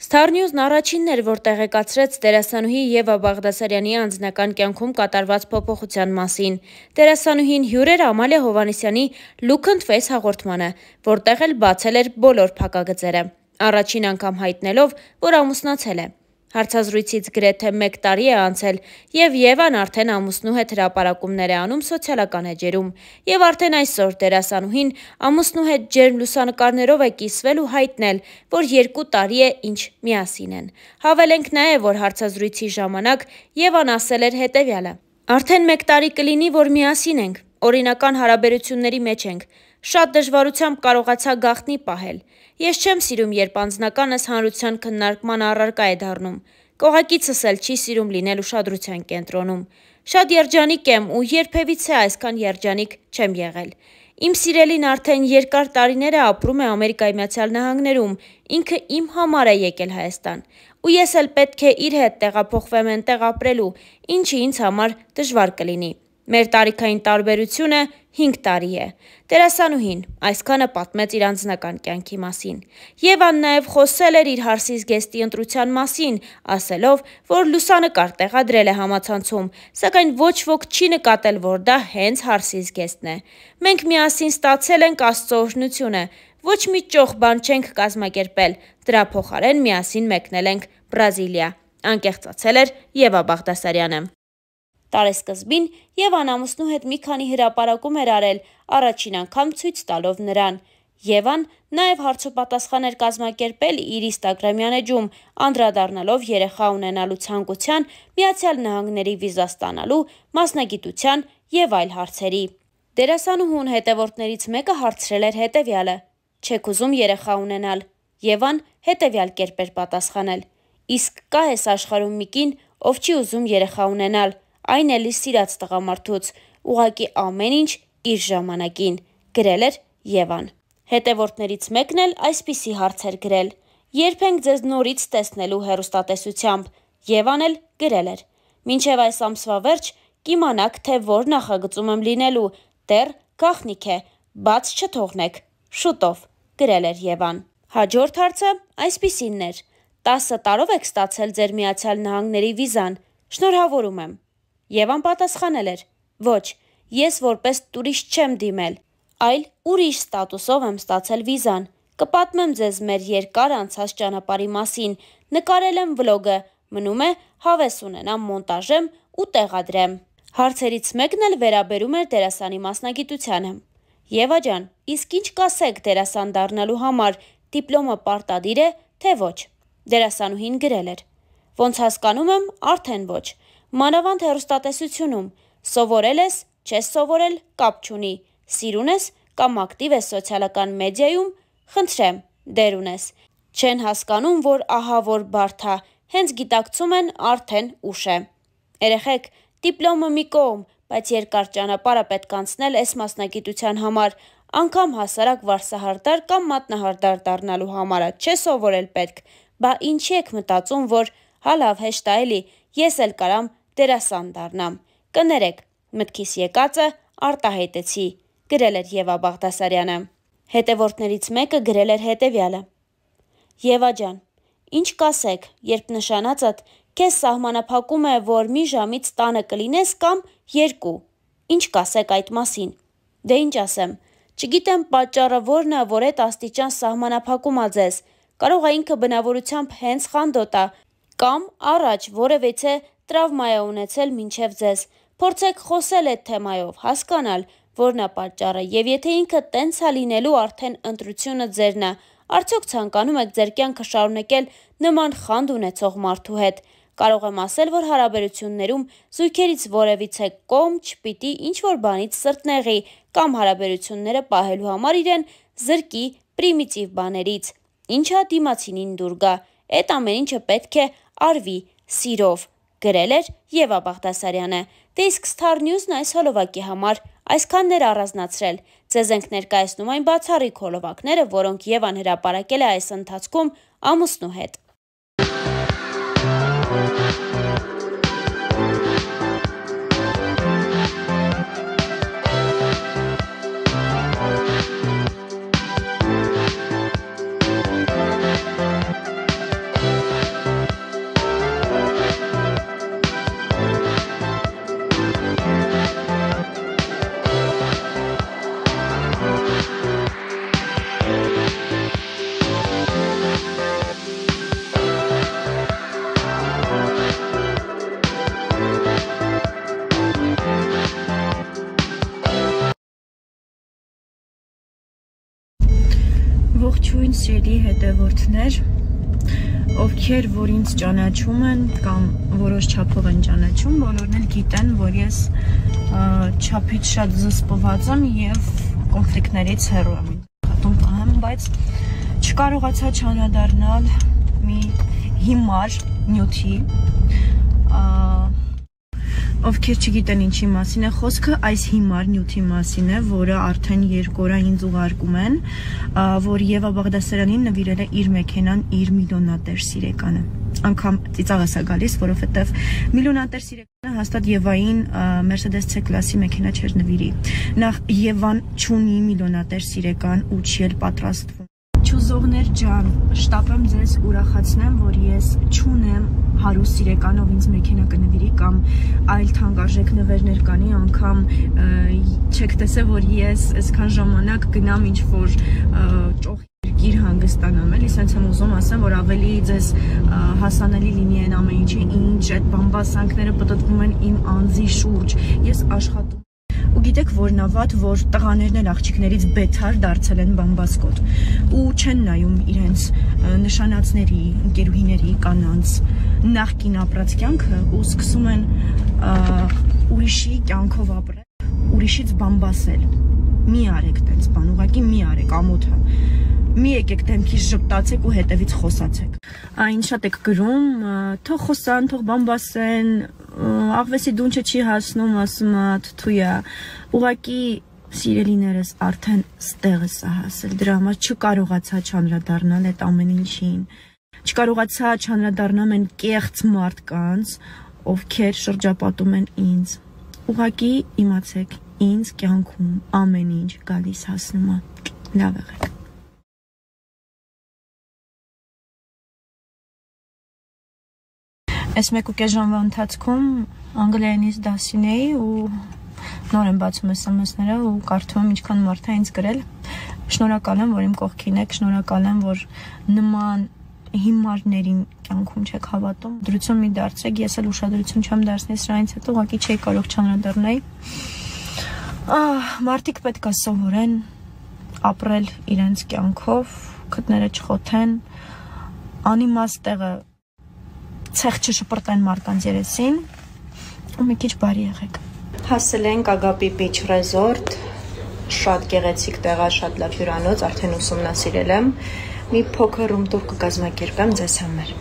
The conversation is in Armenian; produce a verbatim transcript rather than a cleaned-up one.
Star News-ն առաջինն էր, որ տեղեկացրեց դերասանուհի Եվա Բաղդասարյանի անձնական կյանքում կատարված փոփոխության մասին։ Դերասանուհին հյուր էր Ամալիա Հովհաննիսյանի Look and Face հաղորդմանը, որտեղ էլ բացել էր բոլոր փակագծերը, առաջին անգամ հայտնելով, որ ամուսնացել է։ Հարցազրույցից գրեթե մեկ տարի է անցել, եւ Եվան արդեն ամուսնու հետ հրապարակումներ է անում սոցիալական էջերում, եւ արդեն այսօր դերասանուհին ամուսնու հետ ջերմ լուսանկարներով է կիսվել ու հայտնել, որ երկու տարի է ինչ միասին են։ Հավելենք նաեւ, որ հարցազրույցի ժամանակ Եվան ասել էր հետեւյալը. «Արդեն մեկ տարի կլինի, որ միասին ենք, օրինական հարաբերությունների մեջ ենք, շատ դժվարությամբ կարողացա գաղտնի պահել։ Ես չեմ սիրում, երբ անձնականս հանրության քննարկման առարկա է դառնում, կողակիցս էլ չի սիրում լինել ուշադրության կենտրոնում։ Շատ երջանիկ եմ ու երբևիցե այսքան երջանիկ չեմ եղել։ Իմ սիրելին արդեն երկար տարիներ է ապրում է Ամերիկայի Միացյալ Նահանգներում, ինքը իմ համար է եկել Հայաստան, ու ես էլ պետք է իր հետ տեղափոխվեմ այնտեղ ապրելու, ինչը ինձ համար դժվար կլինի։ Մեր տարիքային տարբերությունը հինգ տարի է»։ Դերասանուհին այսքանը պատմեց իր անձնական կյանքի մասին։ Եվան նաև խոսել էր իր հարսի զգեստի ընտրության մասին, ասելով, որ լուսանկար տեղադրել է համացանցում, սակայն ոչ ոք չի նկատել, որ դա հենց հարսի զգեստն է։ «Մենք միասին ստացել ենք Աստծո օրհնությունը, ոչ մի ճոխ բան չենք կազմակերպել, դրա փոխարեն միասին մեկնել ենք Բրազիլիա», անկեղծացել էր Եվա Բաղդասարյանը։ Տարեսկզբին Եվան ամուսնու հետ մի քանի հրապարակում էր արել, առաջին անգամ ցույց տալով նրան։ Եվան նաև հարցոպատասխան էր կազմակերպել իր ինստագրամյան էջում, անդրադառնալով երեխա ունենալու ցանկության, Միացյալ Նահանգների վիզա ստանալու, մասնագիտության եւ այլ հարցերի։ Դերասանուհուն հետևորդներից մեկը հարցրել էր հետեւյալը. «Չեք ուզում երեխա ունենալ»։ Եվան հետեւյալ կերպ էր պատասխանել. «Իսկ կա էս աշխարհում մի կին, ով չի ուզում երեխա ունենալ, այն էլ իր սիրած տղամարդուց, ուղղակի ամեն ինչ իր ժամանակին», գրել էր Եվան։ Հետևորդներից մեկն էլ այսպիսի հարց էր գրել. «Երբ ենք ձեզ նորից տեսնելու հեռուստատեսությամբ»։ Եվան էլ գրել էր. «Մինչև այս ամսվա վերջ կիմանաք, թե որ նախագծում եմ լինելու, դեռ գաղտնիք է, բաց չթողնեք, շուտով», գրել էր Եվան։ Հաջորդ հարցը այսպիսինն էր. «տասը տարով եք ստացել ձեր Միացյալ Նահանգների վիզան, շնորհավորում եմ»։ Եվան պատասխանել էր. «Ոչ, ես որպես տուրիստ չեմ դիմել, այլ ուրիշ ստատուսով եմ ստացել վիզան։ Կպատմեմ ձեզ մեր երկար անցած ճանապարհի մասին, նկարել եմ վլոգը, մնում է հավես ունենամ, մոնտաժեմ ու տեղադրեմ»։ Հարցերից մեկն էլ վերաբերում էր դերասանի մասնագիտությանը։ «Եվա ջան, իսկ ինչ կասեք դերասան դառնալու համար, դիպլոմը պարտադիր է, թե ոչ»։ Դերասանուհին գրել էր. «Ոնց հասկանում եմ, արդեն ոչ։ Մանավանդ հեռուստատեսությունում, սովորել ես, չես սովորել, կապ չունի, սիրուն ես կամ ակտիվ ես սոցիալական մեդիայում, խնդրեմ, դեր ունես։ Չեն հասկանում, որ ահա որ բարդ ա, հենց գիտակցում են, արդեն ուշ է։ Երեխեք, դիպլոմը մի կողմ, բայց երկար ճանապարհ է պետք անցնել այս մասնագիտության համար, անգամ հասարակ վարսահարդար կամ մատնահարդար դառնալու համար չէ սովորել պետք, բա ինչի եք մտածում, որ հա լավ հեշտ ա էլի, ես էլ կարամ դերասան դառնամ։ Կներեք, մտքիս եկածը արտահայտեցի», գրել էր Եվա Բաղդասարյանը։ Հետևորդներից մեկը գրել էր հետեւյալը. «Եվա ջան, ինչ կասեք, երբ նշանածդ քեզ սահմանափակում է, որ մի ժամից տանը կլինես կամ երկու, ինչ կասեք այդ մասին»։ Դե ինչ ասեմ, չգիտեմ պատճառը որն ա, որ այդ աստիճան սահմանափակում ա ձեզ, կարող ա ինքը բնավորությամբ հենց խանդոտ ա, կամ առաջ որևիցե տրավմա է ունեցել մինչև ձեզ, փորձեք խոսել այդ թեմայով, հասկանալ, որն ա պատճառը, եւ եթե ինքը տենց ա լինելու, արդեն ընտրությունը ձերն ա, արդյոք ցանկանում եք ձեր կյանքը շարունակել նման խանդ ունեցող մարդու հետ։ Կարող եմ ասել, որ հարաբերություններում զույգերից որևիցե կողմ չպիտի ինչ-որ բանից սրտնեղի կամ հարաբերությունները պահելու համար իրեն զրկի պրիմիտիվ բաներից, ինչա դիմացինին դուր գա, այդ ամեն ինչը պետք է արվի սիրով», գրել էր Եվա Բաղդասարյանը։ Դե իսկ Star News-ն այս հոլովակի համար այսքանն էր առանձնացրել։ Ձեզ ենք ներկայացնում այն բացառիկ հոլովակները, որոնք Եվան հրապարակել է այս ընթացքում ամուսնու հետ։ Ողջույն սիրելի հետևորդներ, ովքեր որ ինձ ճանաչում են կամ որոշ չափով են ճանաչում, բոլորն էլ գիտեն, որ ես չափից շատ զսպված եմ եւ կոնֆլիկտներից հեռու եմ հատում պահեմ, բայց չկարողացա չանդրադառնալ մի հիմար նյութի, ովքեր չգիտեն ինչի մասին է խոսքը, այս հիմար նյութի մասին է, որը արդեն երկու օր ինձ ուղարկում են, որ Եվա Բաղդասարյանին նվիրել է իր մեքենան իր միլիոնատեր սիրեկանը։ Անգամ ծիծաղս է գալիս, որովհետև միլիոնատեր սիրեկանը հաստատ Եվային Mercedes C-կլասի մեքենա չէր նվիրի։ Նախ Եվան չունի միլիոնատեր սիրեկան ու չի էլ պատրաստվում։ Չուզողներ ջան, շտապեմ ձեզ ուրախացնեմ, որ ես չունեմ հարուստ սիրեկանով ինձ մեքենա կնվիրի կամ այլ թանկարժեք նվերներ կանի, անգամ չեք տեսել, որ ես այսքան ժամանակ գնամ ինչ-որ ճոխ երկիր հանգստանամ, էլի սենց եմ ուզում ասեմ, որ ավելի ձեզ հասանելի լինի այն ամեն ինչը, ինչ այդ բամբասանքները պտտվում են իմ անձի շուրջ, ես աշխատում ու գիտեք որն է վատ, որ տղաներն էլ աղջիկներից բեթար դարձել են բամբասկոտ ու չեն նայում իրենց նշանածների, ընկերուհիների, կանանց նախկին ապրած կյանքը ու սկսում են ուրիշի կյանքով ապրել, ուրիշից բամբասել։ Մի արեք տենց բան, ուղղակի մի արեք ամոթը։ Մի եկեք դեմքից ժպտացեք ու հետևից խոսացեք։ Այն շատ եք գրում, թող խոսան, թող բամբասեն, աղվեսի դունչը չի հասնում, ասում է թթույա, ուղղակի սիրելիներս արդեն ստեղ է սա հասել, դրա համար չկարողացա չանդրադառնալ այդ ամեն ինչին, չկարողացա չանդրադառնալ այն կեղծ մարդկանց, ովքեր շրջապատում են ինձ, ուղղակի իմացեք, ինձ կյանքում ամեն ինչ գալիս հասնում է, լավ եղեք։ Այս մեկ ու կես ժամվա ընթացքում անգլերենից դասին էի ու նոր եմ բացում էս սմսները ու կարդում եմ ինչքան մարդ է ինձ գրել։ Շնորհակալ եմ, որ իմ կողքին եք, շնորհակալ եմ, որ նման հիմարներին կյանքում չեք հավատում։ Դրություն մի դարձրեք, ես էլ ուշադրություն չեմ դարձնի սրանից հետո, ուղղակի չէի կարող չանդրադառնալ։ Մարդիկ պետք է սովորեն ապրել իրենց կյանքով, քթները չխոթեն, անիմաստ տեղը ցեղ չշպրտեն մարդկանց երեսին ու մի քիչ բարի եղեք։ Հասել ենք Ագապի Beach Resort, շատ գեղեցիկ տեղ է, շատ լավ հյուրանոց, արդեն ուսումնասիրել եմ։ Մի փոքր ռում տուր կկազմակերպեմ ձեզ համար։